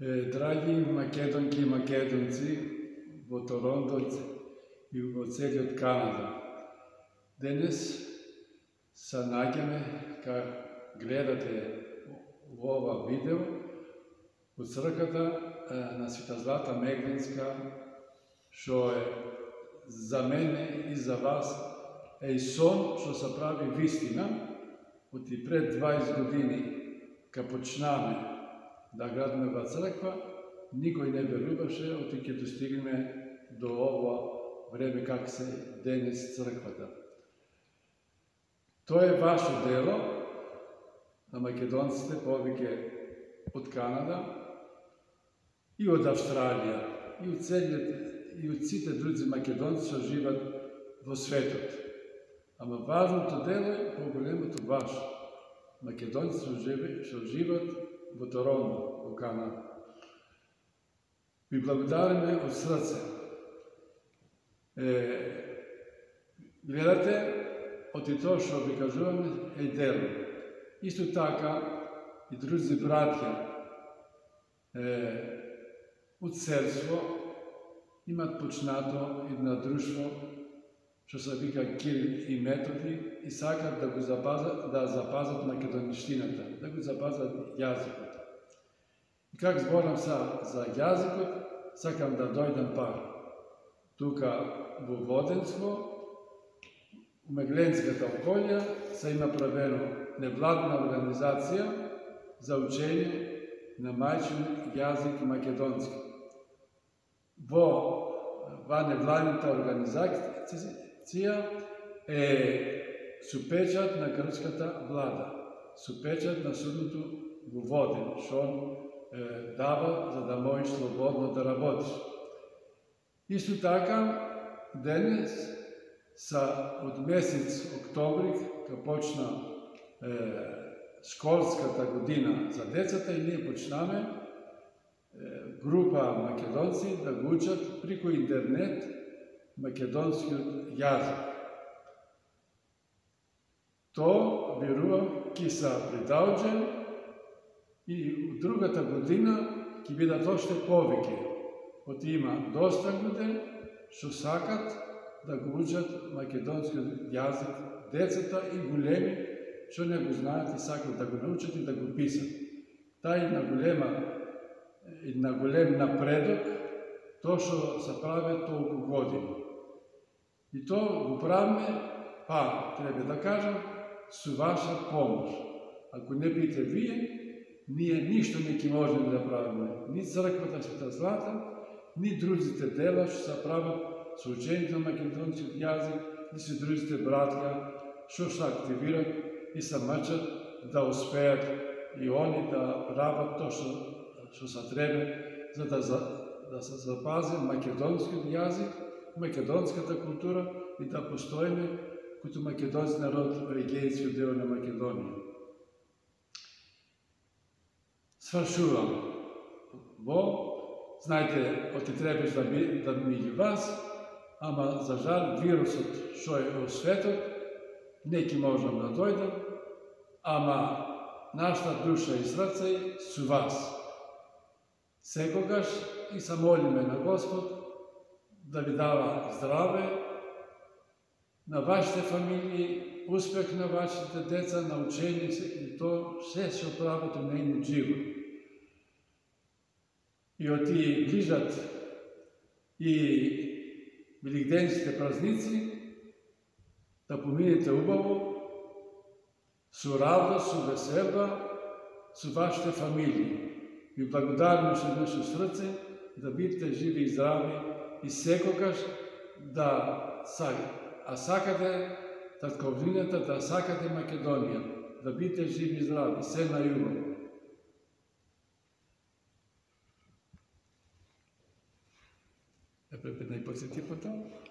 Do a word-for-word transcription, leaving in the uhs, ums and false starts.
Драги македонки и македонци во Торонто и во целиот Канада, денес се наѓаме ка гледате во ова видео од црквата на Света Злата Меглинска, што е за мене и за вас е и сон што се прави вистина. Од и пред дваесет години ка почнаме да градиме ова црква, никој не веруваше оти ќе достигнеме до ова време как се денес црквата. Тоа е ваше дело на македонците, повеќе од Канада и од Австралија и од целиот и од сите други македонци што живеат во светот. Ама важното дело е поголемото ваше. Македонци што живеат во Торонто, во Канада. Ви благодариме од срце. Е, гледате, од и тоа што ви кажуваме е дело. Исто така и други братја е, од Серство имат почнато една друштво што се вика Кирил и Методи и сакат да го запазат, да запазат македонштината, да го запазат јазикот. И как зборам са за јазикот, сакам да дојдам пар. Тука во Воденство, у Мегленската околја, се има правено невладна организација за учење на мајчин јазик македонски. Во ва невладната организација е со печат на грчката влада, со печат на судното во Воден, што он е, дава за да можеш слободно да работиш. Исто така, денес са од месец октомври, кога почна е, школската година за децата и ние почнаме е, група македонци да го учат преку интернет македонскиот јазик. Тоа, верувам, ќе се придолжи и од другата година ќе бидат уште повеќе. Од има доста луѓе што сакат да го учат македонскиот јазик, децата и големи што не го знаат и сакат да го научат и да го пишат. Тај на голема и на голем напредок тоа што се прави толку години. И тоа го правиме, па, треба да кажам, со ваша помош. Ако не бите вие, ние ништо не ќе можеме да правиме. Ни црквата Света Злата, ни другите дела што се прават со учењето на македонскиот јазик, ни со другите братја што се активират и се мачат да успеат и они да прават тоа што што се треба за да да се запази македонскиот јазик, македонската култура и да постоиме като македонски народ во егејскиот дел на Македонија. Свршувам. Во, знаете, оти требаш да би да меѓу вас, ама за жал вирусот што е во светот, не ќе можам да дојдам, ама нашата душа и срце со вас. Секогаш и се молиме на Господ да ви дава здраве на вашите фамилии, успех на вашите деца, на учење и тоа се што прават у нејниот живот. И оти ближат и великденските празници, да поминете убаво, со радост, со веселба, со вашите фамилии. Ви благодариме со наше срце да бидете живи и здрави и секогаш да сакате, а сакате татковината, да сакате Македонија, да бидете живи и здрави, се најубаво. Е, препед најпоследни потоа.